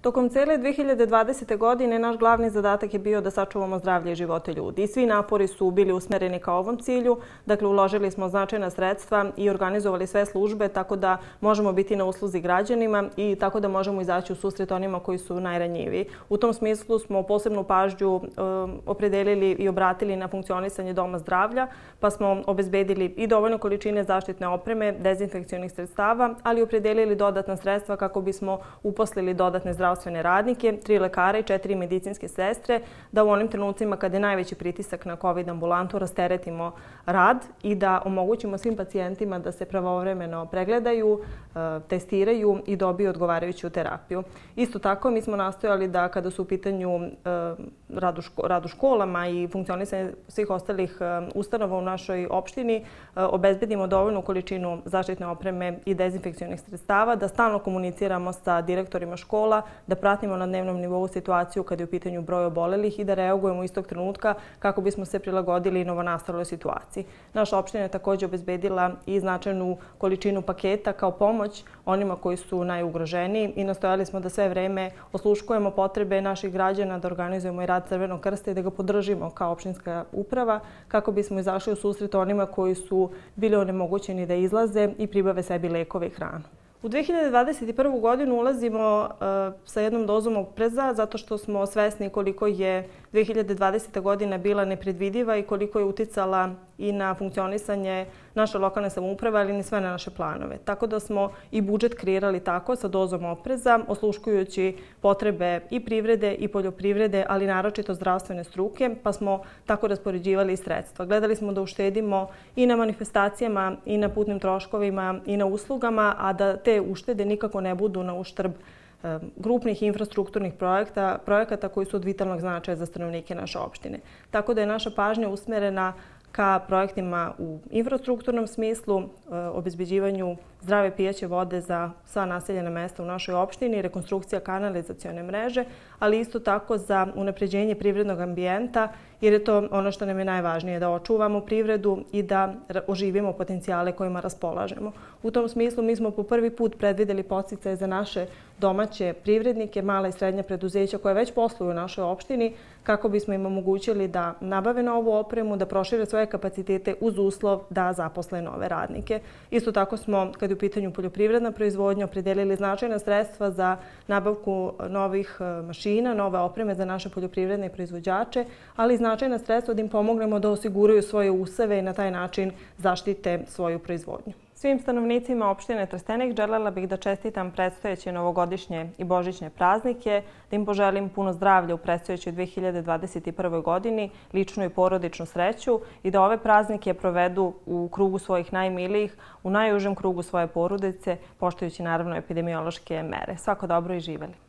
Tokom cele 2020. godine naš glavni zadatak je bio da sačuvamo zdravlje i živote ljudi. I svi napori su bili usmereni ka ovom cilju. Dakle, uložili smo značajna sredstva i organizovali sve službe tako da možemo biti na usluzi građanima i tako da možemo izaći u susret onima koji su najranjiviji. U tom smislu smo posebnu pažnju opredelili i obratili na funkcionisanje doma zdravlja, pa smo obezbedili i dovoljno količine zaštitne opreme, dezinfekcionih sredstava, ali opredelili dodatna sredstva kako bismo uposlili dodatne zdravstvene radnike, 3 lekara i 4 medicinske sestre, da u onim trenucima kada je najveći pritisak na COVID ambulantu rasteretimo rad i da omogućimo svim pacijentima da se pravovremeno pregledaju, testiraju i dobiju odgovarajuću terapiju. Isto tako, mi smo nastojali da kada su u pitanju rad u školama i funkcionisanje svih ostalih ustanova u našoj opštini, obezbedimo dovoljnu količinu zaštitne opreme i dezinfekcionih sredstava, da stalno komuniciramo sa direktorima škola, da pratimo na dnevnom nivou situaciju kada je u pitanju broj obolelih i da reagujemo istog trenutka kako bismo se prilagodili novonastaloj situaciji. Naša opština je također obezbedila i značajnu količinu paketa kao pomoć onima koji su najugroženiji i nastojali smo da sve vreme osluškujemo potrebe naših građana, da organizujemo i rad Crvenog krsta i da ga podržimo kao opštinska uprava kako bismo izašli u susret onima koji su bili onemogućeni da izlaze i pribave sebi lekove i hranu. U 2021. godinu ulazimo sa jednom dozom opreza zato što smo svesni koliko je 2020. godina bila nepredvidiva i koliko je uticala i na funkcionisanje naše lokalne samouprave, ali i sve na naše planove. Tako da smo i budžet kreirali tako sa dozom opreza, osluškujući potrebe i privrede i poljoprivrede, ali naročito zdravstvene struke, pa smo tako raspoređivali i sredstva. Gledali smo da uštedimo i na manifestacijama, i na putnim troškovima, i na uslugama, a da te uštede nikako ne budu na uštrb grupnih infrastrukturnih projekata koji su od vitalnog značaja za stanovnike naše opštine. Tako da je naša pažnja usmerena ka projektima u infrastrukturnom smislu, obezbeđivanju zdrave pijaće vode za sva naseljena mesta u našoj opštini, rekonstrukcija kanalizacione mreže, ali isto tako za unapređenje privrednog ambijenta, jer je to ono što nam je najvažnije, da očuvamo privredu i da oživimo potencijale kojima raspolažemo. U tom smislu mi smo po prvi put predvideli podsticaje za naše domaće privrednike, mala i srednja preduzeća koje već posluju u našoj opštini, kako bismo im omogućili da nabave novu opremu, da prošire svoje kapacitete uz uslov da zaposle nove radnike. Isto tako smo, kad je u pitanju poljoprivredna proizvodnja, opredelili značajna sredstva za nabavku novih mašina, nove opreme za naše poljoprivredne proizvođače, ali i značajna sredstva da im pomognemo da osiguraju svoje useve i na taj način zaštite svoju proizvodnju. Svim stanovnicima opštine Trstenik želela bih da čestitam predstojeće novogodišnje i božićne praznike, da im poželim puno zdravlja u predstojećoj 2021. godini, ličnu i porodičnu sreću i da ove praznike provedu u krugu svojih najmilijih, u najužem krugu svoje porodice, poštujući naravno epidemiološke mere. Svako dobro i živeli!